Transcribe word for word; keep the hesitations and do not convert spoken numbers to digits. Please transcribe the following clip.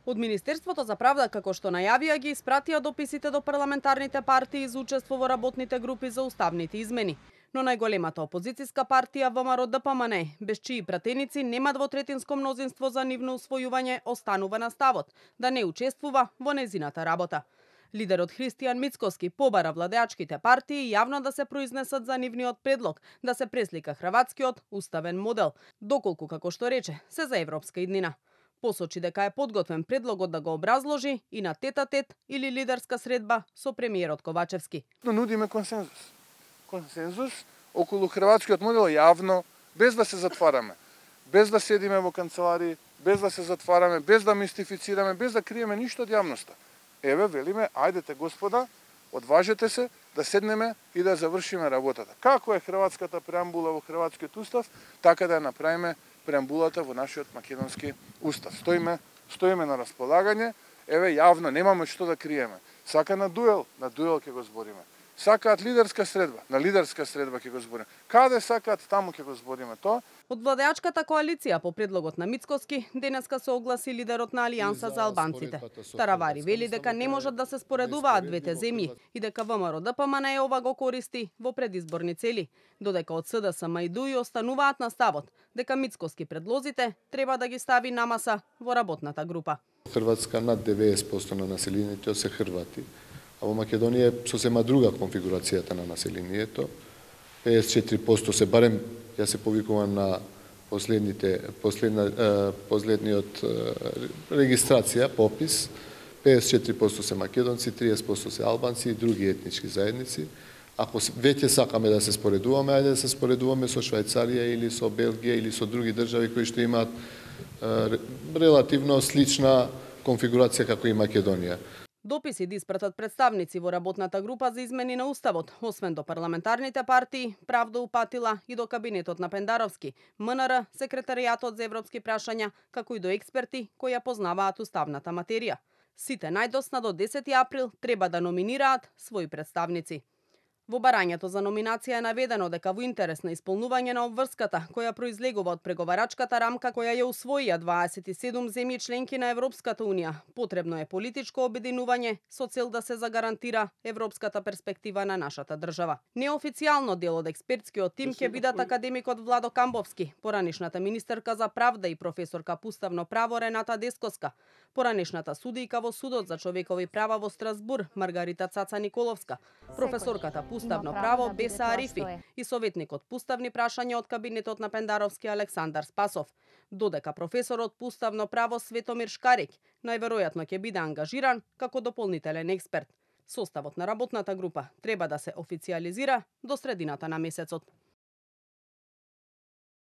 Од Министерството за правда, како што најавија, ги испратија дописите до парламентарните партии за учество во работните групи за уставните измени. Но најголемата опозицијска партија ВМРО-ДПМН, без чии пратеници нема двотретинско мнозинство за нивно усвојување, останува на ставот да не учествува во незината работа. Лидерот Христијан Мицкоски побара владеачките партии јавно да се произнесат за нивниот предлог да се преслика хрватскиот уставен модел, доколку, како што рече, се за европска иднина. Посочи дека е подготвен предлогот да го образложи и на тет-а-тет или лидерска средба со премиерот Ковачевски. Нудиме консензус. Консензус околу хрватскиот модел јавно, без да се затвараме, без да седиме во канцеларии, без да се затвараме, без да мистифицираме, без да криеме ништо од јавноста. Еве, велиме, ајдете господа, одважете се да седнеме и да завршиме работата. Како е хрватската преамбула во хрватскиот устав, така да ја направиме преамбулата во нашиот македонски устав. Стоиме, стоиме на располагање, еве јавно, немаме што да криеме. Сака на дуел, на дуел ќе го збориме. Сакаат лидерска средба, на лидерска средба ќе го збориме. Каде сакаат, таму ќе го збориме тоа. Од владеачката коалиција по предлогот на Мицкоски денеска се огласи лидерот на Алијанса за албанците. Таравари вели дека не можат да се споредуваат двете земји и дека ВМРО-ДПМН ова го користи во предизборни цели, додека од СДСМ и ДУИ остануваат на ставот дека Мицкоски предлозите треба да ги стави на маса во работната група. Хрватска над деветдесет проценти на населението се хрвати, а во Македонија е сосема друга конфигурацијата на населението. педесет и четири проценти се барем, ја се повикувам на последните последна последниот регистрација, попис. педесет и четири проценти се македонци, триесет проценти се албанци и други етнички заедници. Ако веќе сакаме да се споредуваме, ајде да се споредуваме со Швајцарија или со Белгија или со други држави кои што имаат релативно слична конфигурација како и Македонија. Дописи да испратат представници во работната група за измени на уставот, освен до парламентарните партии, Правда упатила и до кабинетот на Пендаровски, МНР, секретаријатот за европски прашања, како и до експерти кои ја познаваат уставната материја. Сите најдосна до десети април треба да номинираат своји представници. Во барањето за номинација е наведено дека во интерес на исполнување на обврската која произлегува од преговарачката рамка која ја усвоија дваесет и седум земји членки на Европската унија, потребно е политичко обединување со цел да се загарантира европската перспектива на нашата држава. Неофицијално дел од експертскиот тим ќе бидат академикот Владо Камбовски, поранешната министерка за правда и професорка по уставно право Рената Дескоска, поранешната судијка во судот за човекови права во Страсбур Маргарита Цаца Николовска, професорката по уставно право Беса Арифи и советникот по уставни прашања од кабинетот на Пендаровски Александар Спасов, додека професорот по уставно право Светомир Шкарик најверојатно ќе биде ангажиран како дополнителен експерт. Составот на работната група треба да се официјализира до средината на месецот.